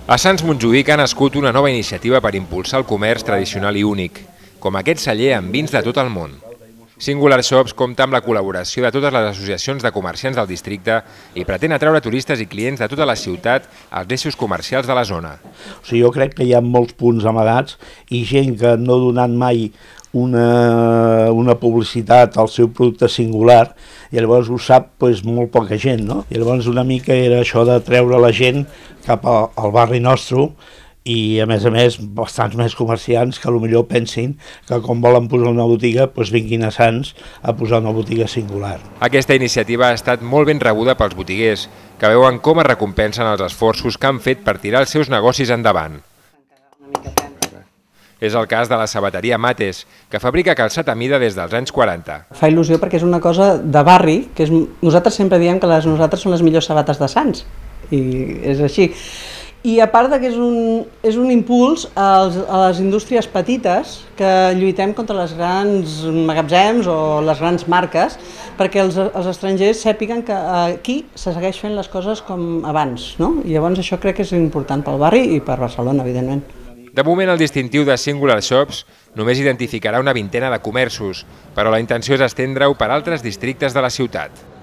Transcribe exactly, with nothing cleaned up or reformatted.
A Sants Montjuïc ha nascut una nova iniciativa per impulsar el comerç tradicional i únic, com aquest celler amb vins de tot el món. Singular Shops compta amb la col·laboració de totes les associacions de comerciants del districte i pretén atraure turistes i clients de tota la ciutat als eixos comercials de la zona. O sigui, jo crec que hi ha molts punts amagats i gent que no ha donat mai una, una publicitat al seu producte singular i llavors ho sap doncs, molt poca gent, no? I llavors una mica era això de treure la gent cap al, al barri nostre i a més a més bastants més comerciants que potser pensin que com volen posar una botiga doncs vinguin a Sants a posar una botiga singular. Aquesta iniciativa ha estat molt ben rebuda pels botiguers, que veuen com es recompensen els esforços que han fet per tirar els seus negocis endavant. És el cas de la sabateria Mates, que fabrica calçat a mida des dels anys quaranta. Fa il·lusió perquè és una cosa de barri, que és, nosaltres sempre diem que les nosaltres són les millors sabates de Sants, i és així. I a part que és un, és un impuls als, a les indústries petites que lluitem contra les grans magatzems o les grans marques perquè els, els estrangers sàpiguen que aquí se segueix fent les coses com abans, no? I llavors això crec que és important pel barri i per Barcelona, evidentment. De moment el distintiu de Singular Shops només identificarà una vintena de comerços, però la intenció és estendre-ho per altres districtes de la ciutat.